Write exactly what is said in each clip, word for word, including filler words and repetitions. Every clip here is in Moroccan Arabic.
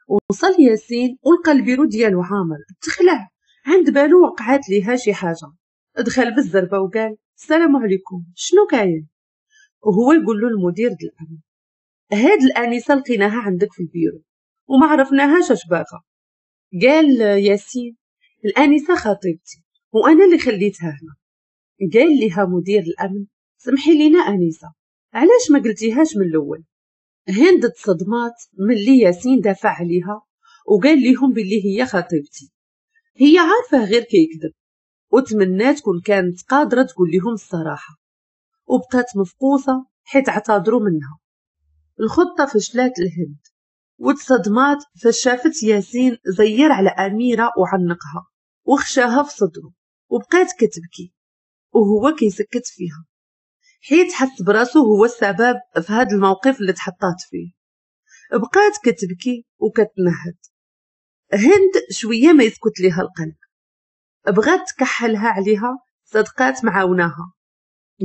وصل ياسين ولقى البيرو ديالو عامر، تخلع، عند بالو وقعات ليها شي حاجة. دخل بالزربه وقال السلام عليكم، شنو كاين؟ وهو يقول له المدير ديال الامن هاد الانسة لقيناها عندك في البيرو وما عرفناهاش اش باغا. قال ياسين الانسة خطيبتي وانا اللي خليتها هنا. قال لها مدير الامن سمحي لينا انسه، علاش ما قلتيهاش من الاول؟ هند تصدمات ملي ياسين دافع عليها وقال لهم باللي هي خطيبتي، هي عارفه غير كيكذب، وتمنات كون كانت قادرة تقول لهم الصراحة، وبقات مفقوسه حيت اعتذروا منها. الخطة فشلات الهند، وتصدمات فشافت ياسين زير على اميره وعنقها وخشاها في صدره، وبقات كتبكي وهو كيسكت فيها حيت حس براسو هو السبب في هذا الموقف اللي تحطات فيه. بقات كتبكي وكتنهد. هند شوية ما يسكت ليها القلب، بغات تكحلها عليها، صدقات معاوناها.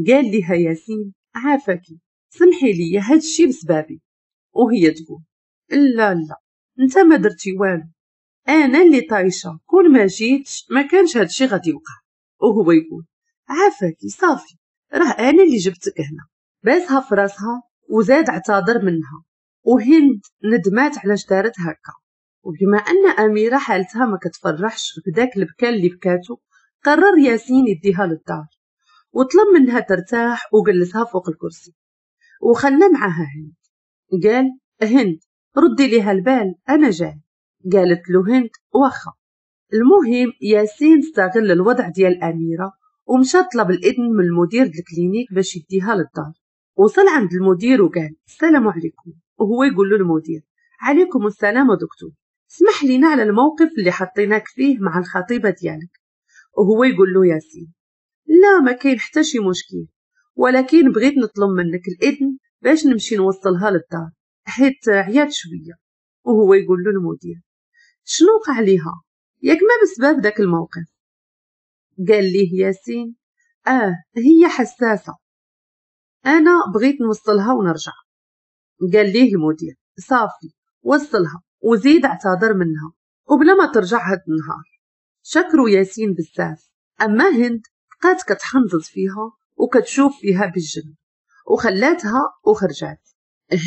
قال لها ياسين عافاكي سمحي لي هاد الشي بسبابي، وهي تقول لا لا انت ما درتي والو، انا اللي طايشه، كل ما جيتش ما كانش هاد الشي غادي يوقع. وهو يقول عافاكي صافي راه انا اللي جبتك هنا. باسها في راسها وزاد اعتذر منها، وهند ندمات علاش دارت هكا. وبما ان اميره حالتها ما كتفرحش بداك البكا اللي بكاتو، قرر ياسين يديها للدار وطلب منها ترتاح وجلسها فوق الكرسي وخلى معاها هند. قال هند ردي ليها البال انا جاي. قالت له هند واخا. المهم ياسين استغل الوضع ديال اميره ومشى طلب الاذن من المدير ديال ال clinique باش يديها للدار. وصل عند المدير وقال السلام عليكم، وهو يقول له المدير عليكم السلام دكتور، اسمح لينا على الموقف اللي حطيناك فيه مع الخطيبه ديالك. وهو يقول له ياسين لا ما كاين حتى شي مشكل، ولكن بغيت نطلب منك الاذن باش نمشي نوصلها للدار حيت عيات شوية. وهو يقول له المدير شنو وقع ليها ياك ما بسبب داك الموقف؟ قال ليه ياسين اه هي حساسة، انا بغيت نوصلها ونرجع. قال ليه المدير صافي وصلها وزيد اعتذر منها وبلا ما ترجع هاد النهار. شكروا ياسين بزاف. اما هند بقات كتحنزز فيها وكتشوف فيها بالجنب وخلاتها وخرجات.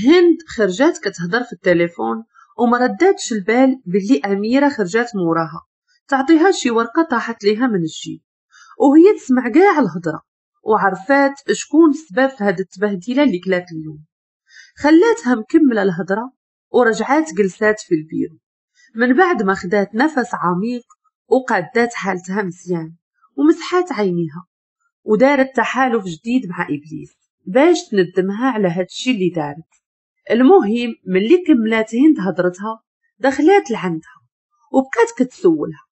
هند خرجات كتهضر في التليفون وما رداتش البال باللي اميره خرجات موراها تعطيها شي ورقة طاحت ليها من الجيب، وهي تسمع كاع الهضرة وعرفات شكون السبب في هاد التبهديله اللي كلات اليوم. خلاتها مكملة الهضرة ورجعات جلسات في البيرو من بعد ما خدات نفس عميق وقادات حالتها مزيان ومسحات عينيها ودارت تحالف جديد مع ابليس باش تندمها على هادشي اللي دارت. المهم ملي كملات هند هضرتها دخلات لعندها وبقات كتسولها.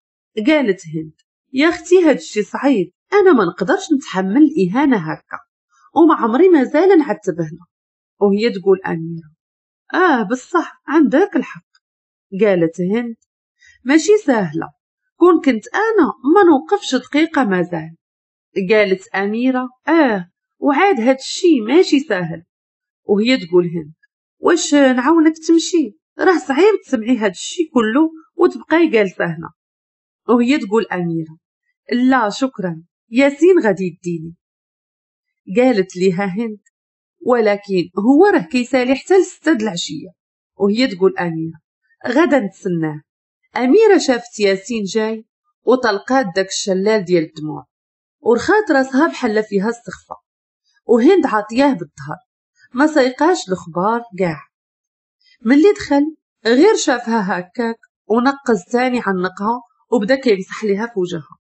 قالت هند يا اختي هادشي صعيب، انا ما نقدرش نتحمل الاهانة هكا وما عمري مازال نعتب هنا. وهي تقول اميره اه بصح عندك الحق. قالت هند ماشي سهلة، كون كنت انا ما نوقفش دقيقة مازال. قالت اميره اه وعاد هادشي ماشي سهل. وهي تقول هند واش نعاونك تمشي، راه صعيب تسمعي هادشي كله وتبقاي جالسة هنا. وهي تقول اميره لا شكرا ياسين غادي يديني. قالت ليها هند ولكن هو راه كيسالي حتى لستة د العشية. وهي تقول اميره غدا نتسناه. اميره شافت ياسين جاي وطلقات داك الشلال ديال الدموع ورخات راسها بحال فيها السخفه، وهند عاطياه بالظهر ما سيقاش الخبار كاع. ملي دخل غير شافها هكاك ونقز تاني عنقها وبدا كيمسح ليها في وجهها.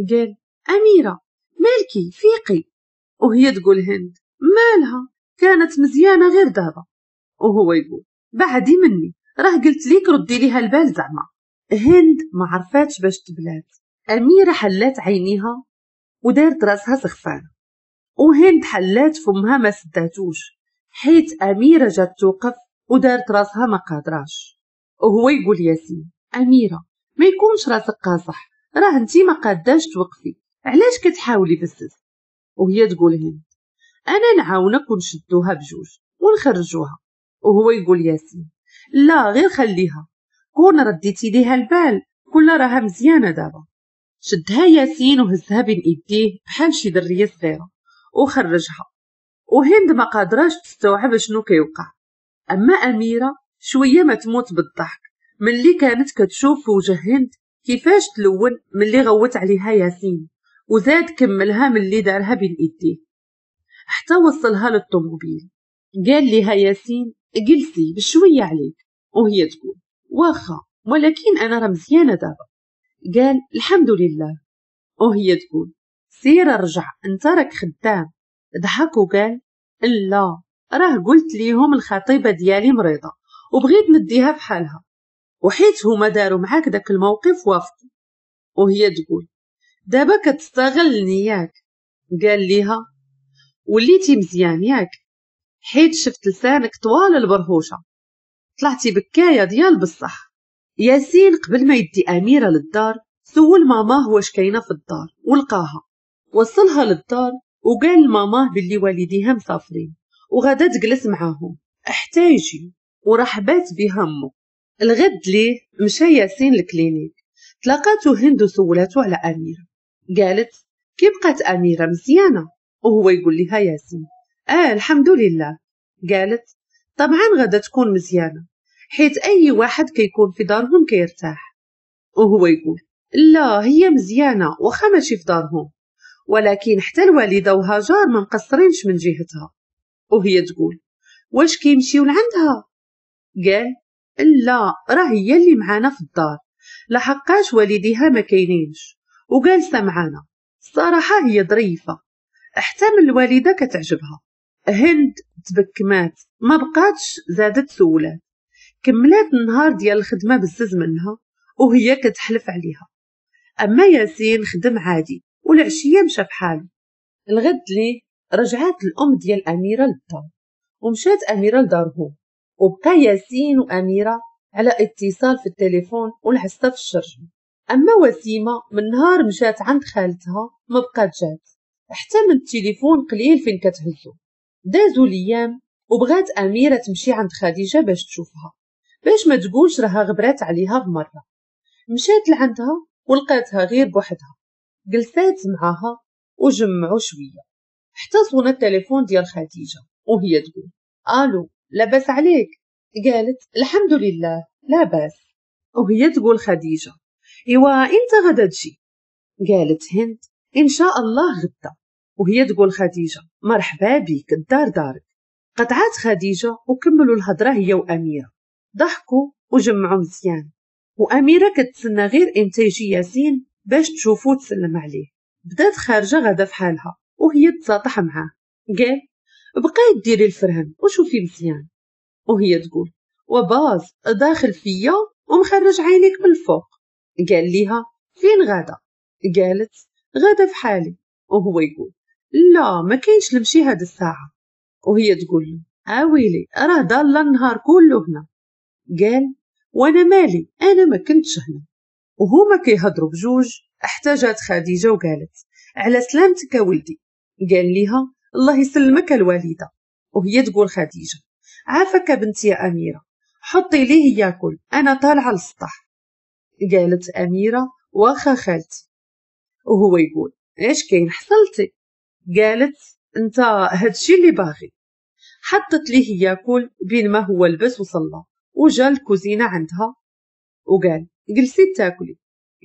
قال اميره مالكي فيقي. وهي تقول هند مالها كانت مزيانه غير دابا. وهو يقول بعدي مني راه قلت ليك ردي ليها البال زعما. هند ما عرفاتش باش تبلات. اميره حلات عينيها ودارت راسها سخفانه، وهند حلات فمها ما سداتوش حيت اميره جات توقف ودارت راسها ما قادراش. وهو يقول ياسين اميره ما يكونش راسك قاصح، راه انتي ما قاداش توقفي، علاش كتحاولي بزز؟ وهي تقول هند انا نعاونك ونشدوها بجوج ونخرجوها. وهو يقول ياسين لا غير خليها، كون رديتي ليها البال كل راها مزيانه دابا. شدها ياسين وهزها بين ايديه بحال شي دريه صغيرة وخرجها، وهند ما قادراش تستوعب شنو كيوقع. اما اميره شوية ما تموت بالضحك ملي كانت كتشوف في وجه هند كيفاش تلون ملي غوت عليها ياسين، وزاد كملها ملي دارها بين ايديه حتى وصلها للطوموبيل. قال لها ياسين جلسي بشوية عليك، وهي تقول واخا ولكن انا راه مزيانه دابا. قال الحمد لله، وهي تقول سير رجع انت راك خدام. ضحك وقال لا راه قلت ليهم الخطيبه ديالي مريضه وبغيت نديها في حالها، وحيت هما داروا معاك داك الموقف وافقوا. وهي تقول دابا كتستغلني ياك. قال ليها وليتي مزيان ياك، حيت شفت لسانك طوال البرهوشه، طلعتي بكايه ديال بصح. ياسين قبل ما يدي اميره للدار سول ماماه واش كاينه في الدار ولقاها، وصلها للدار وقال لماماه باللي والديها مسافرين وغادا تجلس معاهم حتى يجي، ورحبات بها امه. الغد ليه مشى ياسين لل clinique، تلاقاتو هند وسولاتو على اميره. قالت كي بقات اميره مزيانه؟ وهو يقول لها ياسين اه الحمد لله. قالت طبعا غادا تكون مزيانه حيت اي واحد كيكون في دارهم كيرتاح. وهو يقول لا هي مزيانه واخا ماشي في دارهم، ولكن حتى الوالدة وهاجر ما مقصرينش من جهتها. وهي تقول واش كيمشيو لعندها؟ قال لا راه هي اللي معانا في الدار لحقاش والديها ما كاينينش وجالسه معانا، الصراحة هي ظريفة حتى من الوالدة كتعجبها. هند تبكمات ما بقاتش زادت سولات، كملات النهار ديال الخدمة بزز منها وهي كتحلف عليها. اما ياسين خدم عادي والعشيه مشى بحاله. الغد ليه رجعات الام ديال اميره للدار ومشات اميره لدارهم، وبقى ياسين واميره على اتصال في التليفون والعسه في الشرجم. اما وسيمه من نهار مشات عند خالتها ما بقات جات، حتى من التليفون قليل فين كتهزو. دازو الايام وبغات اميره تمشي عند خديجة باش تشوفها باش ما تقولش راها غبرات عليها بمرة. مشات لعندها ولقاتها غير بوحدها، جلسات معاها وجمعوا شوية حتى صونا التليفون ديال خديجة وهي تقول الو لاباس عليك؟ قالت الحمد لله لاباس. وهي تقول خديجة ايوا انت غدا تجي؟ قالت هند ان شاء الله غدا. وهي تقول خديجة مرحبا بك الدار دارك. قطعات خديجة وكملوا الهضرة هي واميره، ضحكوا وجمعوا مزيان، واميره كتسنى غير امتى يجي ياسين باش تشوفو تسلم عليه. بدات خارجه غدا في حالها وهي تساطح معاه. قال بقاي ديري الفرهن وشوفي مزيان. وهي تقول وباز داخل فيا ومخرج عينيك من الفوق. قال ليها فين غدا؟ قالت غدا في حالي. وهو يقول لا ما كاينش نمشي هاد الساعة. وهي تقول له اويلي راه ضال النهار كله هنا. قال وانا مالي انا ما كنتش هنا. وهما كيهضروا بجوج حتى جات خديجة وقالت على سلامتك ولدي. قال ليها الله يسلمك الوالدة. وهي تقول خديجة عافاك بنتي يا اميره حطي ليه ياكل انا طالعه للسطح. قالت اميره واخا خالتي. وهو يقول ايش كاين حصلتي؟ قالت انت هادشي اللي باغي. حطت ليه ياكل بين ما هو لبس وصلى وجا الكوزينة عندها وقال جلسي تاكلي.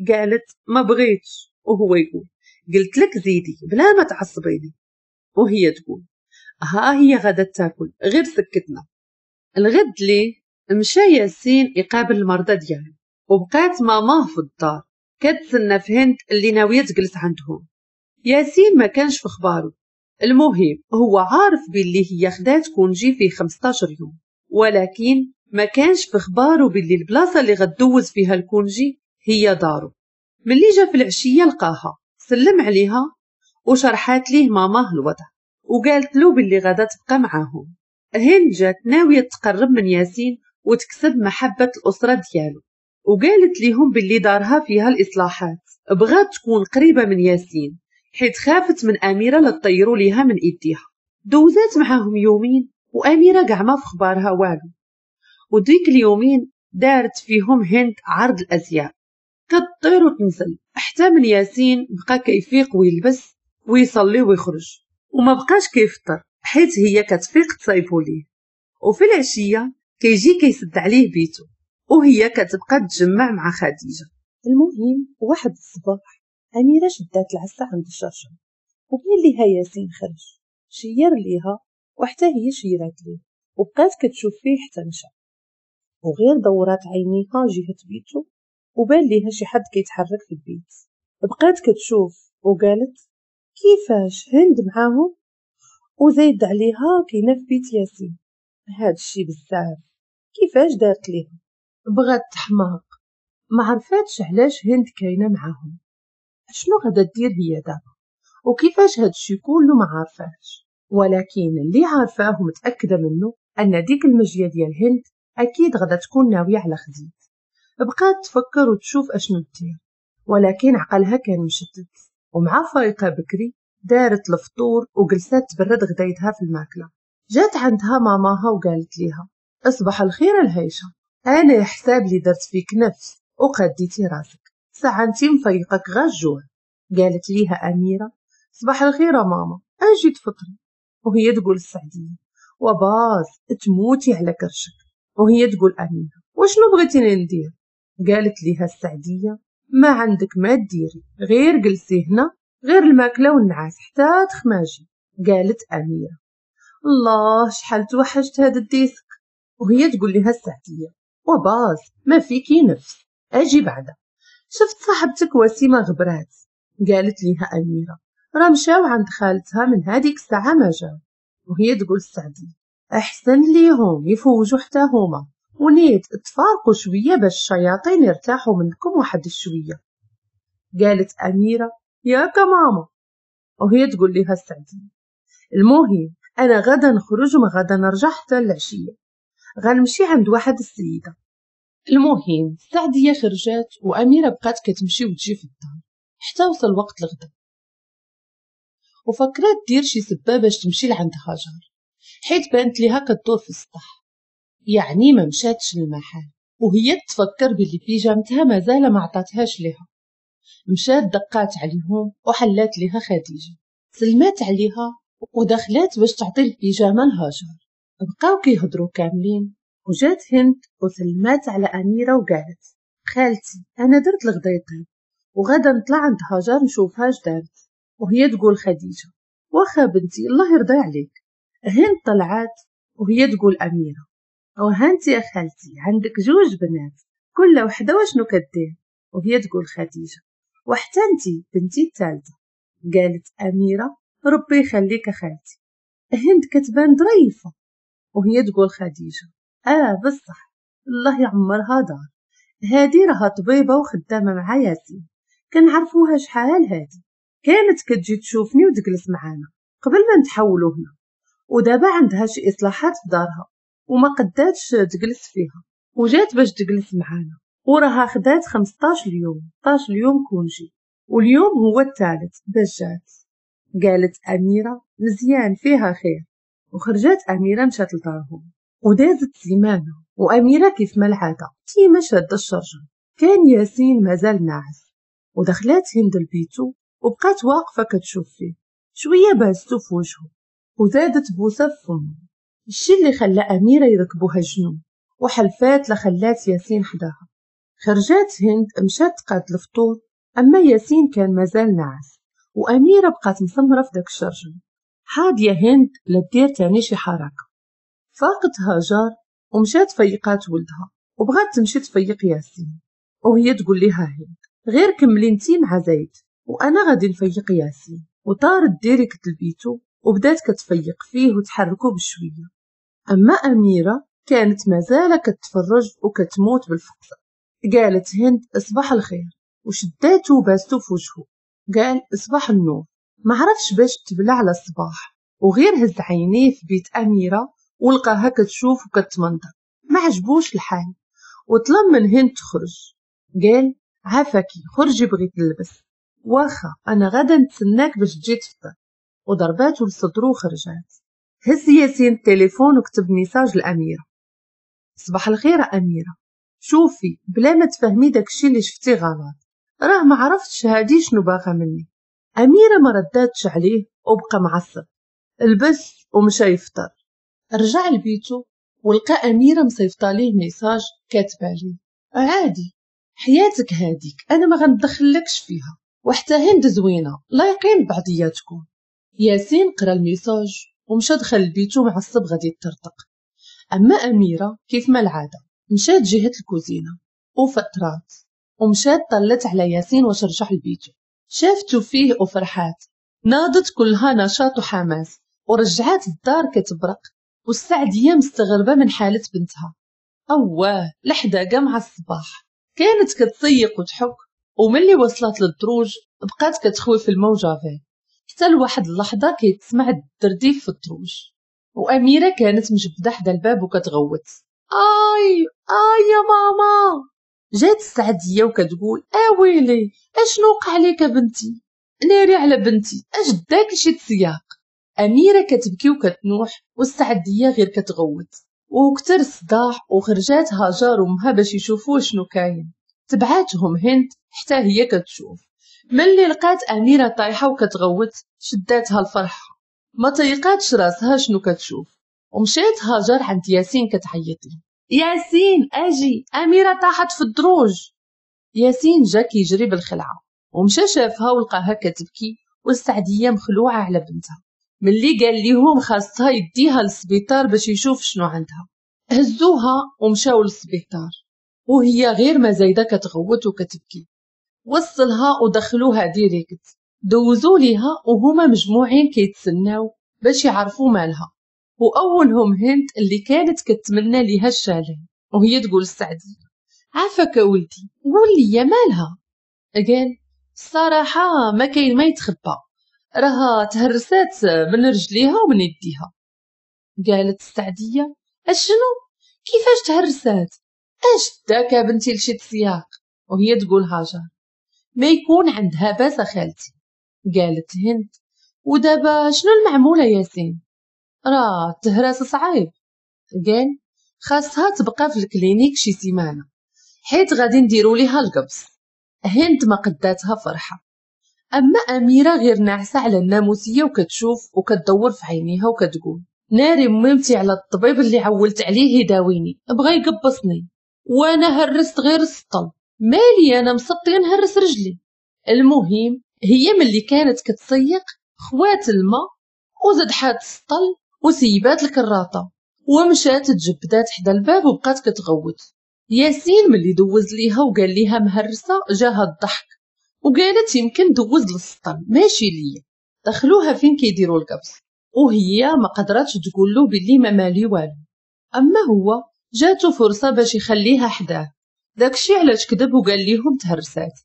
قالت ما بغيتش. وهو يقول قلت لك زيدي بلا ما تعصبيني. وهي تقول ها هي غدا تاكل غير سكتنا. الغد ليه مشى ياسين يقابل المرضى ديالو، وبقات ماماه في الدار كتسنى في هند اللي ناوية تجلس عندهم. ياسين ما كانش في خبارو، المهم هو عارف باللي هي خدات congé فيه خمسطاش يوم، ولكن ما كانش في خبارو باللي البلاصة اللي غدوز فيها ال congé هي دارو. ملي جا في العشية لقاها، سلم عليها وشرحات ليه ماماه الوضع وقالت له باللي غادا تبقى معاهم. هند جات ناوية تقرب من ياسين وتكسب محبة الاسرة ديالو، وقالت ليهم باللي دارها فيها الاصلاحات، بغات تكون قريبه من ياسين حيت خافت من اميره لطيروا ليها من ايديها. دوزات معاهم يومين واميره كاع ما في خبارها والو، وديك اليومين دارت فيهم هند عرض الازياء، كطير وتنزل، حتى من ياسين بقى كيفيق ويلبس ويصلي ويخرج، وما بقاش كيفطر حيت هي كتفيق تصايبو ليه. وفي العشية كيجي كيسد عليه بيتو، وهي كتبقى تجمع مع خديجة. المهم واحد الصباح اميره شدات العسه عند الشرشم، وبين ليها ياسين خرج، شير ليها وحتى هي شيرات ليه، وبقات كتشوف فيه حتى مشى. وغير دورات عينيها جهة بيتو وبان ليها شي حد كيتحرك في البيت، بقات كتشوف وقالت كيفاش هند معاهم وزايد عليها كاينه في بيت ياسين، هاد الشي بزاف، كيفاش دارت ليها؟ بغات تحماق، ما عرفاتش علاش هند كاينه معاهم، شنو غادا دير هي دابا، وكيفاش هاد الشي كله ما عارفاش. ولكن اللي عارفاه ومتاكده منه ان ديك المجيه ديال هند اكيد غادا تكون ناوية على خديد. بقات تفكر وتشوف اشنو دير، ولكن عقلها كان مشتت. ومع فايقه بكري دارت الفطور وجلسات تبرد غدايتها في الماكلة. جات عندها ماماها وقالت ليها اصبح الخير الهيشه، انا حساب لي درت فيك نفس وقديتي راسك، ساعة انتي مفيقك غا الجوع. قالت ليها اميره صباح الخير ماما، اجي تفطري. وهي تقول السعديه وباز تموتي على كرشك. وهي تقول اميره وشنو بغيتيني ندير؟ قالت ليها السعديه ما عندك ما ديري، غير جلسي هنا، غير الماكلة والنعاس حتى تخماجي. قالت اميره الله شحال توحشت هذا ال disque. وهي تقول لها السعديه وباز ما فيكي نفس، اجي بعدا، شفت صاحبتك وسيمه غبرات. قالت لها اميره راه مشاو عند خالتها من هذيك الساعة ما جاو. وهي تقول السعديه احسن ليهم يفوجوا حتى هما، ونيت تفارقوا شوية باش الشياطين يرتاحوا منكم واحد الشويه. قالت اميره ياك ماما. وهي تقول لها السعديه المهم انا غدا نخرج وما غدا نرجع حتى العشية، غنمشي عند واحد السيدة. المهم السعديه خرجات واميره بقات كتمشي وتجي في الدار حتى وصل وقت الغدا، وفكرات دير شي سبه باش تمشي لعند هاجر، حيت بانت ليها كدور في السطح، يعني ما مشاتش للمحل. وهي تفكر باللي بيجامتها مازال ما عطاتهاش ليها. مشات دقات عليهم وحلات ليها خديجة، سلمات عليها ودخلات باش تعطي البيجامه لهاجر. بقاو كيهضروا كاملين، وجات هند وسلمات على اميره وقالت خالتي انا درت الغدا يطيب وغدا نطلع عند هاجر نشوفها اش دارت. وهي تقول خديجة واخا بنتي الله يرضي عليك. هند طلعات وهي تقول اميره وهانتي يا خالتي عندك جوج بنات كل وحده وشنو كدير. وهي تقول خديجة وحتى انتي بنتي الثالثة. قالت اميره ربي يخليك خالتي، هند كتبان ظريفة. وهي تقول خديجة اه بصح الله يعمرها دار، هادي راها طبيبه وخدامه مع ياسين، كنعرفوها شحال هادي، كانت كتجي تشوفني وتجلس معانا قبل ما نتحولوا هنا، ودابا عندها شي اصلاحات في دارها وما قداتش تجلس فيها، وجات باش تجلس معانا، وراها خدات خمسطاش اليوم خمسطاش اليوم congé، واليوم هو الثالث باش جات. قالت اميره مزيان فيها خير. وخرجت اميره مشات لدارهم، ودازت سيمانه واميره كيف ما العادة ديما شاده الشرجم. كان ياسين مازال ناعس، ودخلات هند لبيتو وبقات واقفة كتشوف فيه شوية، باستو في وجهه وزادت بوسه في فمه، الشي اللي خلى اميره يركبوها الجنون، وحلفات لخلات ياسين حداها. خرجات هند مشات تقاد الفطور، اما ياسين كان مازال ناعس، واميره بقات مسمره في داك الشرجم حاضيه هند لا دير تاني شي حركة. فاقت هاجر ومشات فيقات ولدها وبغات تمشي تفيق ياسين، وهي تقول لها هند غير كملي انتي مع زيد وانا غادي نفيق ياسين. وطارت direct لبيتو وبدات كتفيق فيه وتحركو بشوية. اما اميره كانت مازال كتفرج وكتموت بالفقصه. قالت هند اصبح الخير، وشداتو وباستو في وجهه. قال اصبح النور. ما عرفش باش تبلع على الصباح، وغير هز عينيه في بيت اميره ولقاها كتشوف وكتمنظر، ما عجبوش الحال وطلب من هند تخرج. قال عافاكي خرجي بغيت نلبس. واخا انا غادا نتسناك باش تجي تفطر. وضرباتو لصدرو وخرجات. هز ياسين التليفون وكتب message لاميره صباح الخير اميره، شوفي بلا ما تفهمي داكشي اللي شفتي غلط، راه ما عرفتش هادي شنو باغا مني. اميره ما رداتش عليه وبقى معصب، لبس ومشى يفطر. رجع لبيتو ولقى اميره مصيفطه ليه message كاتبه ليه عادي حياتك هاديك انا ما غندخلكش فيها، وحتى هند زوينة لايقين بعضياتكم. ياسين قرا ال message ومشى دخل لبيتو معصب غادي يطرطق. اما اميره كيف ما العادة مشات جهة الكوزينة وفطرات ومشات طلت على ياسين واش رجع لبيتو، شافتو فيه وفرحات، ناضت كلها نشاط وحماس ورجعات الدار كتبرق. والسعديه مستغربه من حاله بنتها، اواه لحداقه مع الصباح كانت كتسيق وتحك، وملي وصلت للدروج بقات كتخوي في الماء وجافيل حتى لواحد اللحظة كيتسمع الدرديف في الدروج، واميره كانت مجبده حدا الباب وكتغوت اي اي يا ماما. جات السعديه وكتقول اويلي اشنو وقع لك بنتي، ناري على بنتي اش داك شي تسياق. اميره كتبكي وكتنوح والسعديه غير كتغوت، وكتر الصداع وخرجات هاجر وامها باش يشوفوا شنو كاين. تبعاتهم هند حتى هي كتشوف، ملي لقات اميره طايحة وكتغوت شداتها الفرحة، ما طيقاتش راسها شنو كتشوف. ومشات هاجر عند ياسين كتعيط له ياسين اجي اميره طاحت في الدروج. ياسين جا كيجري بالخلعه ومشى شافها ولقاها كتبكي والسعديه مخلوعه على بنتها. ملي قال ليهم خاصها يديها للسبيطار باش يشوف شنو عندها، هزوها ومشاو للسبيطار وهي غير ما زايدة كتغوت وكتبكي. وصلها ودخلوها direct، دوزوا ليها وهما مجموعين كيتسناو باش يعرفوا مالها، واولهم هند اللي كانت كتمنى ليها الشاليه، وهي تقول السعديه عافاك ولدي قول لي مالها. قال الصراحة ما كاين ما يتخبى، راها تهرسات من رجليها ومن يديها. قالت السعديه اشنو كيفاش تهرسات، اش داك بنتي لشي تسياق؟ وهي تقول هاجر ما يكون عندها باس خالتي. قالت هند ودابا شنو المعموله ياسين، راه التهراس صعيب. قال خاصها تبقى في ال clinique شي سيمانه حيت غادي نديرو ليها القبص. هند ما قداتها فرحه. اما اميره غير ناعسه على الناموسيه وكتشوف وكتدور في عينيها وكتقول ناري ميمتي على الطبيب اللي عولت عليه يداويني بغى يقبصني وانا هرست غير السطل، مالي انا مسطيه نهرس رجلي. المهم هي ملي كانت كتسيق خوات الماء وزدحات السطل وسيبات الكراطه ومشات تجبدات حدا الباب وبقات كتغوت. ياسين ملي دوز ليها وقال ليها مهرسه جاها الضحك وقالت يمكن دوز للسطل ماشي ليا. دخلوها فين كيديروا القبص وهي ما قدرتش تقول له باللي ما مالي والو. اما هو جاتو فرصة باش يخليها حداه، داكشي علاش كذب وقال ليهم تهرسات.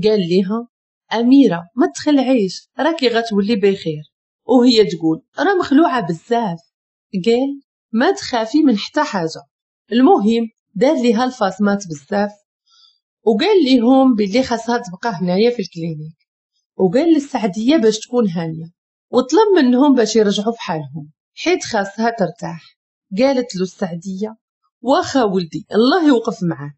قال ليها اميره ما تخلعيش راكي غتولي بخير، وهي تقول راه مخلوعه بزاف. قال ما تخافي من حتى حاجة. المهم دار ليها الفاصمات بزاف وقال ليهم باللي خاصها تبقى هنايا في ال clinique، وقال للسعديه باش تكون هانيه، وطلب منهم باش يرجعوا في حالهم حيت خاصها ترتاح. قالت له السعديه واخا ولدي الله يوقف معاك.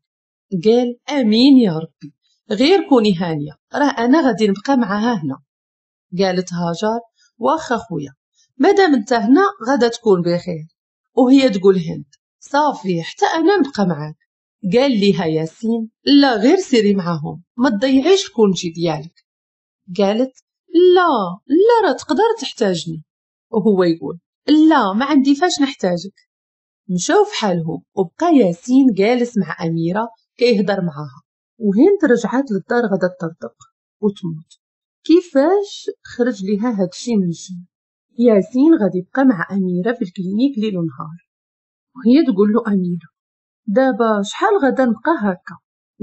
قال امين يا ربي غير كوني هانيه راه انا غادي نبقى معاها هنا. قالت هاجر واخا خويا مادام انت هنا غادا تكون بخير. وهي تقول هند صافي حتى انا نبقى معاك. قال ليها ياسين لا غير سيري معاهم ما تضيعيش ال congé ديالك. قالت لا لا راه تقدر تحتاجني. وهو يقول لا ما عندي فاش نحتاجك. مشاو في حالهم وبقى ياسين جالس مع اميره كيهضر معاها، وهند رجعات للدار غدا تطرطق وتموت. كيفاش خرج ليها هادشي من الجن؟ ياسين غادي يبقى مع اميره في ال clinique ليل ونهار، وهي تقول له اميره دابا شحال غدا نبقى هكا؟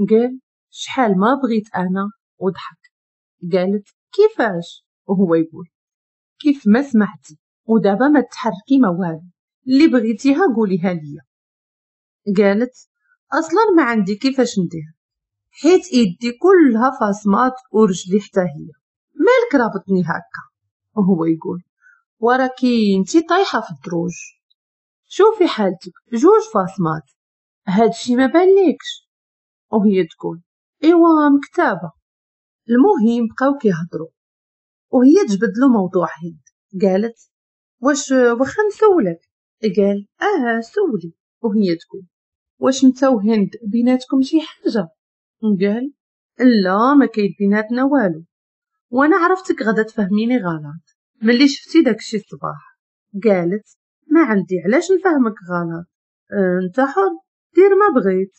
قال شحال ما بغيت انا، وضحك. قالت كيفاش؟ وهو يقول كيف ما سمعتي، ودابا ما تحركي ما والو، اللي بغيتيها قوليها ليا. قالت اصلا ما عندي كيفاش ندير حيت ايدي كلها فاصمات ورجلي حتى هي، مالك رابطني هكا؟ وهو يقول وراكي انتي طايحة في الدروج، شوفي حالتك جوج فاصمات. هادشي ما باليكش؟ وهي تقول ايوا مكتابه. المهم بقاو كيهضروا وهي تجبد له موضوع هند. قالت واش واخا نسولك؟ قال اه سولي. وهي تقول واش انت وهند بيناتكم شي حاجة؟ قال لا ما كاين بيناتنا والو، وانا عرفتك غادا تفهميني غلط ملي شفتي داكشي الصباح. قالت ما عندي علاش نفهمك غلط، انت حر دير ما بغيت.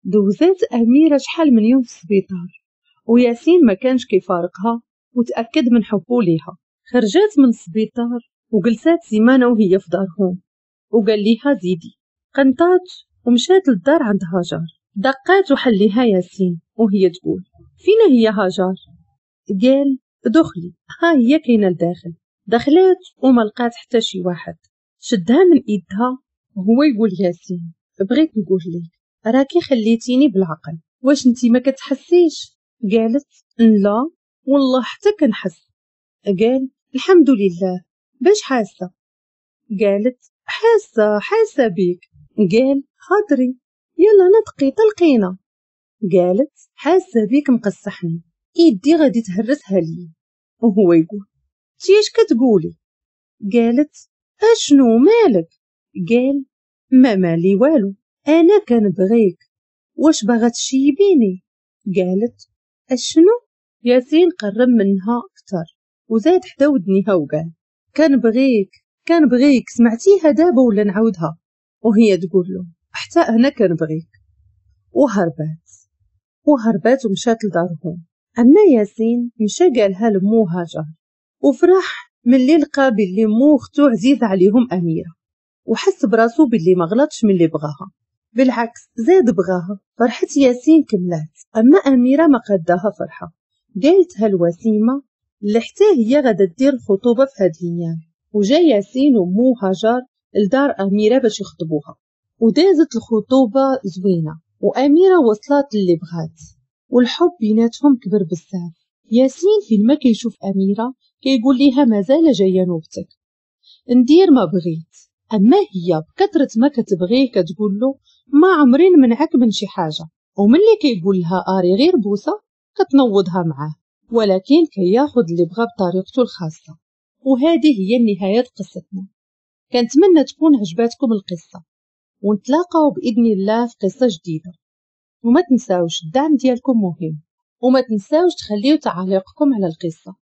دوزات اميره شحال من يوم في السبيطار وياسين ما كانش كيفارقها وتاكد من حبه ليها. خرجات من السبيطار وجلسات سيمانه وهي في دارهم، وقال ليها زيدي. قنطات ومشات للدار عند هاجر. دقات وحليها ياسين وهي تقول فينا هي هاجر؟ قال دخلي، ها هي كاينه لداخل. دخلات وما لقات حتى شي واحد. شدها من ايدها وهو يقول ياسين بغيت نقول لك راكي خليتيني بالعقل، واش انتي ما كتحسيش؟ قالت لا والله حتى كنحس. قال الحمد لله، باش حاسه؟ قالت حاسه حاسه بيك. قال هضري يلا نطقي طلقينا. قالت حاسه بيك مقصحني، ايدي غادي تهرسها لي. وهو يقول تيش كتقولي؟ قالت اشنو مالك؟ قال ما مالي والو، انا كنبغيك، واش باغا تشيبيني؟ قالت اشنو؟ ياسين قرب منها اكثر وزاد حدا ودنيها وقال كنبغيك كنبغيك، سمعتيها دابا ولا نعاودها؟ وهي تقول له حتى انا كنبغيك. وهربات وهربات ومشات لدارهم. اما ياسين مشى قالها لمو هاجر، وفرح ملي لقى باللي مو اختو عزيزه عليهم اميره، وحس براسو باللي ما غلطش من اللي بغاها، بالعكس زاد بغاها. فرحة ياسين كملات. اما اميره ما قداها فرحه، قالتها الوسيمه اللي حتى هي غادا دير الخطوبة في هاد الايام. وجا ياسين ومو هاجر لدار اميره باش يخطبوها، ودازت الخطوبة زوينة واميره وصلت اللي بغات، والحب بيناتهم كبر بزاف. ياسين فين ما كيشوف اميره كيقول ليها مازال جاية نوبتك، ندير ما بغيت. اما هي بكثرة ما كتبغيه كتقول له ما عمري نمنعك من شي حاجة، وملي كيقول لها اري غير بوسه كتنوضها معاه، ولكن كياخذ اللي بغا بطريقته الخاصة. وهذه هي نهاية قصتنا. كنتمنى تكون عجباتكم القصة، ونتلاقاو باذن الله في قصة جديدة. وما تنساوش الدعم ديالكم مهم، وما تنساوش تخليو تعاليقكم على القصة.